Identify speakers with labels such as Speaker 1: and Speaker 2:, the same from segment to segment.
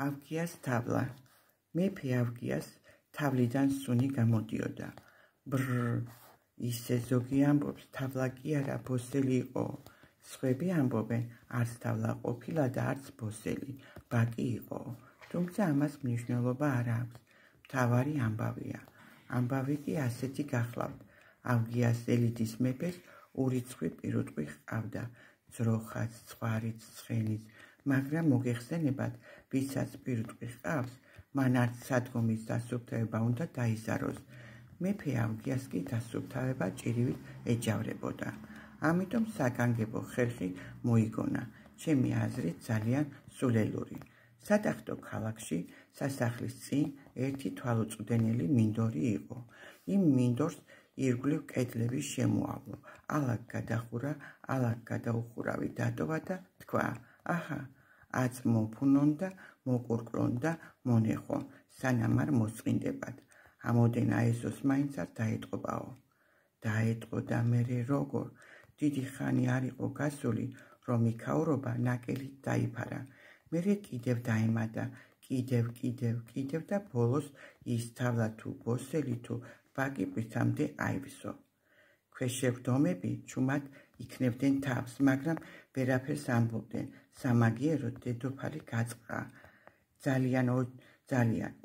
Speaker 1: ავგიას თავლა. მეფე ავგიას თავლიდან სუნი გამოდიოდა. ბრრ, ისე ზოგი ამბობს, თავლა კი არა, ბოსელი იყო. სხვები ამბობენ, არც თავლა ყოფილა და არც ბოსელი, ბაკი იყო. თუმცა ამას მნიშვნელობა არ აქვს. მთავარი ამბავია. ამბავი კი ასეთი გახლავთ. ავგიას ელიდის მეფეს ურიცხვი პირუტყვი ჰყავდა, ძროხაც, ცხვარიც, ცხენიც, მაგრამ მოგეხსენებათ, ვისაც პირუტყვი ჰყავს, მან არც სადგომის დასუფთავება უნდა დაიზაროს. მეფე ავგიას კი დასუფთავება ჭირივით ეჯავრებოდა. ამიტომ საგანგებო ხერხი მოიგონა, ჩემი აზრით ძალიან სულელური. სატახტო ქალაქში სასახლის წინ ერთი თვალუწვდენელი მინდორი იყო. იმ მინდორს ირგვლივ კედლები შემოავლო, ალაგ გადახურა, ალაგ გადაუხურავი დატოვა და თქვა: აჰა, აც მოფუნონ და მოკურკრონ და მონეხო, სანამ არ მოსწყინდებათ. ამოდენ აესოს მაინც არ დაეტყობაო. დაეტყო და მერე როგორ? დიდი ხანი არ იყო გასული, რომ იქაურობა ნაკელით დაიფარა. მერე კიდევ დაემატა, კიდევ და ბოლოს ის თავლა თუ ბოსელი თუ ბაკი პრიცამდე აივსო. ქვეშევრდომები ჩუმად იქნებდნენ თავს, მაგრამ ვერაფერს ამბობდნენ. სამაგიეროდ დედოფალი გაწყა. ძალიან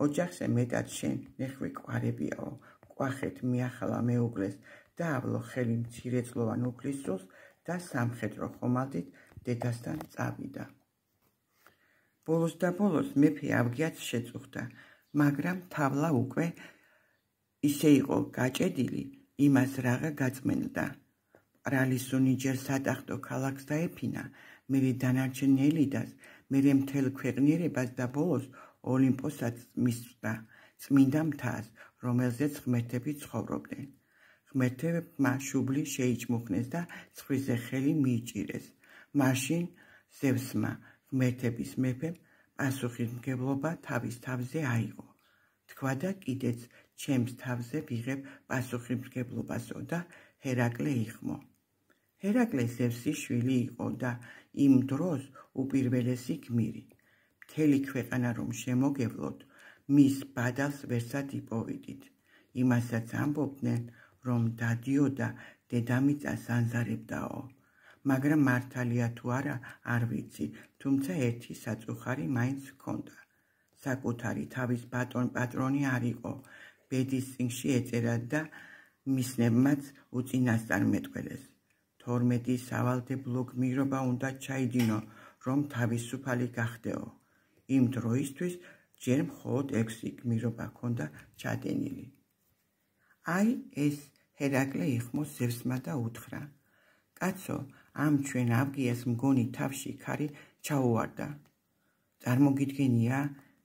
Speaker 1: ოჯახზე მეტად შენ ნეხვი კვარებიაო. კვახეთ მიახალა მეუღლეს და ავლო ხელი მცირეწლოვან უფლისწულს და სამხედრო ხომალდით დედასთან წავიდა. ბოლოს და ბოლოს მეფე ავგიაც შეწუხდა, მაგრამ თავლა უკვე ისე იყო გაჭედილი, იმას რაღა გაწმენდა. ბრალისუნი ჯერ სატახტო ქალაქს დაეფინა, მერე დანარჩენ ელიდას, მერე მთელ ქვეყნიერებას და ბოლოს ოლიმპოსაც მისვდა, წმინდა მთას, რომელზეც ღმერთები ცხოვრობდნენ. ღმერთებმა შუბლი შეიჭმუხნეს და ცხვირზე ხელი მიიჭირეს. მაშინ ზევსმა, ღმერთების მეფემ, პასუხისმგებლობა თავის თავზე აიღო. თქვა და კიდეც ჩემს თავზე ვიღებ პასუხისმგებლობასო და ჰერაკლე იხმო. ჰერაკლე ზევსის შვილი იყო და იმ დროს უპირველესი გმირი. მთელი ქვეყანა რომ შემოგევლოთ, მის ბადალს ვერსად იპოვიდით. იმასაც ამბობდნენ, რომ დადიოდა დედამიწას ანზარებდაო. მაგრამ მართალია თუ არა, არ ვიცი, თუმცა ერთი საწუხარი მაინც ჰქონდა. საკუთარი თავის პატრონი არ იყო, ბედის წინში ეწერა და მისნებმაც უწინასწარ მეტყველეს. 12 სავალდებულო გმირობა უნდა ჩაიდინო, რომ თავისუფალი გახდეო. იმ დროისთვის ჯერ მხოლოდ 6 გმირობა ჰქონდა ჩადენილი. აი ეს ჰერაკლე იხმო ზევსმა და უთხრა: კაცო, ამ ჩვენ ავგიას მგონი თავში ქარი ჩაუვარდა. წარმოგიდგენია,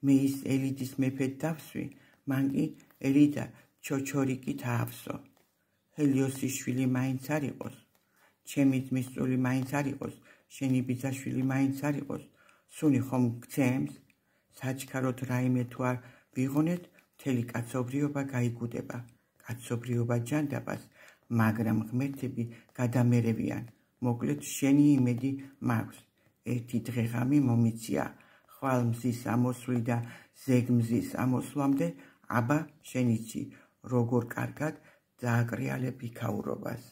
Speaker 1: მე ის ელიდის მეფედ დავსვი, მან კი ელიდა ჩოჩორიკით აავსო. ჰელიოსის შვილი მაინც არ იყოს, ჩემი ძმისწული მაინც არ იყოს, შენი ბიძაშვილი მაინც არ იყოს, სუნი ხომ გცემს? საჩქაროდ რაიმე თუ არ ვიღონეთ, მთელი კაცობრიობა გაიგუდება. კაცობრიობა ჯანდაბას, მაგრამ ღმერთები გადამერევიან. მოკლედ შენი იმედი მაქვს. ერთი დღეღამი მომიცია, ხვალ მზის ამოსვლი და ზეგ მზის ამოსვლამდე, აბა შენიცი, როგორ კარგად დააკრიალებ იქაურობას.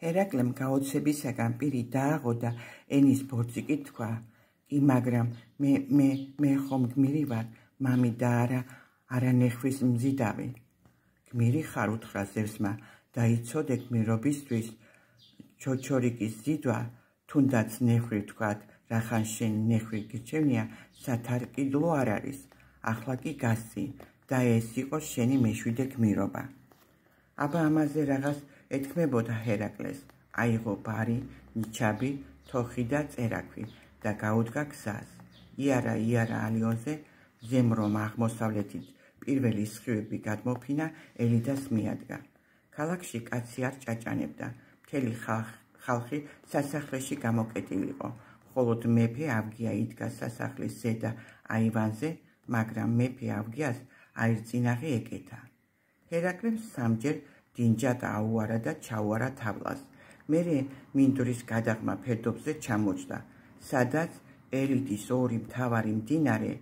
Speaker 1: ჰერაკლემ გაოცებისაგან პირი დააღო და ენის ბორციკით თქვა: კი, მაგრამ მე ხომ გმირი ვარ, მამი და არა ნეხვის მზიდავი. გმირი ხარ, უთხრა ზევსმა, და იცოდე გმირობისთვის ჩოჩორიკის ზიდვა, თუნდაც ნეხვი ვთქვათ, რახან შენ ნეხვი გირჩევნია, სათარკიდლო არ არის. ახლა კი გასცი და ეს იყოს შენი მეშვიდე გმირობა. აბა ამაზე რაღაც ეთქმებოდა ჰერაკლეს. აიღო ბარი, ნიჩაბი, თოხი და წერაქვი და გაუდგა გზას. იარა ალიონზე, ზემრომ აღმოსავლეთით პირველი სხივები გადმოფინა, ელიდას მიადგა. ქალაქში კაცი არ ჭაჭანებდა, მთელი ხალხი სასახლეში გამოკეტილიყო, მხოლოდ მეფე ავგია იდგა სასახლის ზედა აივანზე, მაგრამ მეფე ავგიას აირწინაღი ეკეთა. ჰერაკლემ სამჯერ დინჯად აუარა და ჩაუარა თავლას. მერე მინდვრის გადაღმა ფერდობზე ჩამოჯდა, სადაც ერიდის ორი მთავარი მდინარე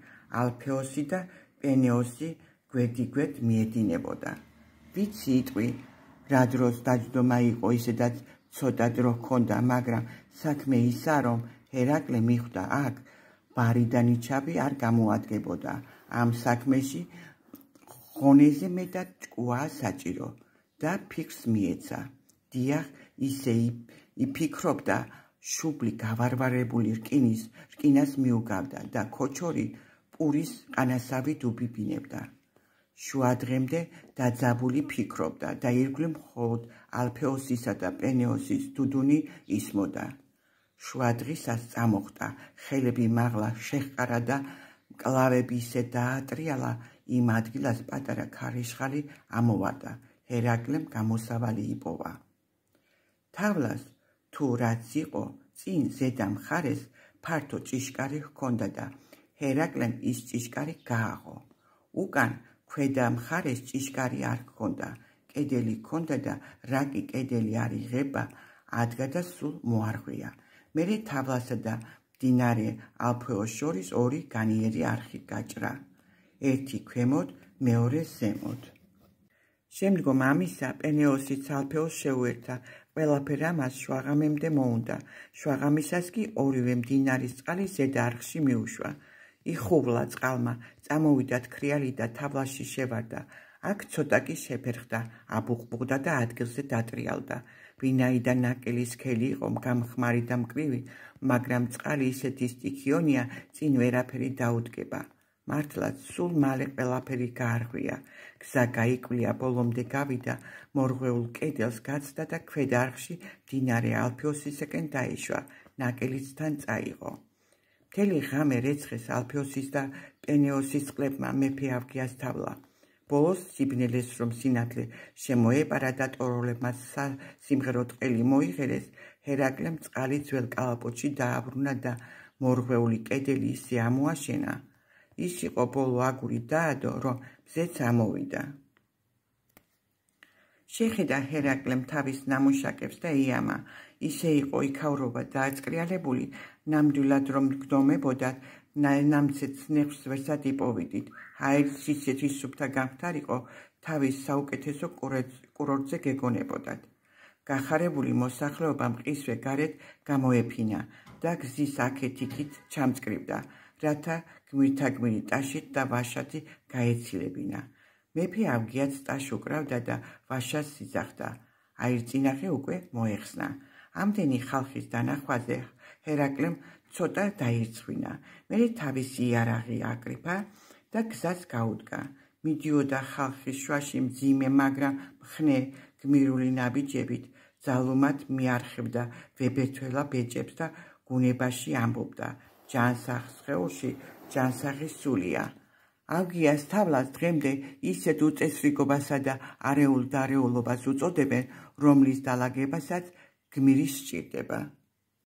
Speaker 1: ალფეოსი და პენეოსი გვერდიგვერდ მიედინებოდა. ვიცი იტყვი, რა დროს დაჯდომა იყო, ისედაც ცოტა დრო ჰქონდა, მაგრამ საქმე ისაა, რომ ჰერაკლე მიხვდა აქ ბარი და ნიჩაბი არ გამოადგებოდა. ამ საქმეში ღონეზე მეტად ჭკუაა საჭირო და ფიქრს მიეცა. დიახ, ისე იფიქრობდა, შუბლი გავარვარებული რკინას მიუგავდა და ქოჩორი პურის ყანასავით უბიბინებდა. შუადღემდე დაძაბული ფიქრობდა და ირგვლივ მხოლოდ ალფეოსისა და პენეოსის დუდუნი ისმოდა. შუადღისას წამოხდა, ხელები მაღლა შეჰყარა და მკლავები ისე დაატრიალა, იმ ადგილას პატარა ქარიშხალი ამოვარდა. ჰერაკლემ გამოსავალი იპოვა. თავლას თუ რაც იყო, წინ ზედა მხარეს ფართო ჭიშკარი ჰქონდა და ჰერაკლემ ის ჭიშკარი გააღო. უკან ქვედა მხარეს ჭიშკარი არ ჰქონდა, კედელი ჰქონდა და რა კი კედელი არ იღება, ადგა და სულ მოარღვია. მერე თავლასა და მდინარე ალფეოს შორის ორი განიერი არხი გაჭრა, ერთი ქვემოთ, მეორე ზემოთ. შემდგომ ამისა პენეოსიც ალფეოს შეუერთა, ყველაფერ ამას შვაღამემდე მოუნდა. შვაღამისას კი ორივე მდინარის წყალი ზედა არხში მიუშვა. იხუვლა წყალმა, წამოვიდა თქრიალი და თავლაში შევარდა. აქ ცოტა კი შეფერხდა, აბუყბუყდა და ადგილზე დატრიალდა. ვინაიდან ნაკელი სქელი იყო, გამხმარი და მკვრივი, მაგრამ წყალი ისეთი სტიქიონია, წინ ვერაფერი დაუდგება. მართლაც სულ მალე ყველაფერი გაარღვია. გზა გაიკვლია, ბოლომდე გავიდა, მორღვეულ კედელს გაცდა და ქვედა არხში მდინარე ალფეოსისაკენ დაიშვა, ნაკელიც თან წაიღო. მთელი ღამე რეცხეს ალფეოსის და პენეოსის წყლებმა მეფე ავგიას თავლა. ბოლოს სიბნელეს რომ სინათლე შემოეპარა და ტოროლებმა სიმღერო ტყელი მოიღერეს, ჰერაკლემ წყალი ძველ კალაპოტში დააბრუნა და მორღვეული კედელი ისე ამოაშენა. ის იყო ბოლო აგური დაადო, რომ მზეც ამოვიდა. შეხედა ჰერაკლემ თავის ნამუშაკებს და იამა. ისე იყო იქავრობა დააწყრიალებული, ნამდვილად რომ გდომებოდათ, ნამცეც ნეხვს ვერსად იპოვიდით. ჰაერიც ისეთი სუფთა გამხდარიყო, თავის საუკეთესო კურორტზე გეგონებოდათ. გახარებული მოსახლეობა მყისვე გარეთ გამოეფინა და გზის აქეთ-იქით ჩამწკრივდა, რათა გმირთაგმირი ტაშით და ვაშათი გაეცილებინა. მეფე ავგიაც ტაშ უკრავდა და ვაშას იძახდა. აირწინახე უკვე მოეხსნა. ამდენი ხალხის დანახვაზე ჰერაკლემ ცოტა დაირცხვინა. მერე თავისი იარაღი აკრიფა და გზას გაუდგა. მიდიოდა ხალხის შუაში მძიმე, მაგრამ მხნე გმირული ნაბიჯებით, ძალუმად მიარხებდა ვებერთველა ბეჭებს და გუნებაში ამბობდა. ჯანსაღ სხეულში ჯანსაღი სულია. ავგიას თავლას დღემდე ისეთ უწესრიგობასა და არეულ დარეულობას უწოდებენ, რომლის დალაგებასაც გმირი სჭირდება.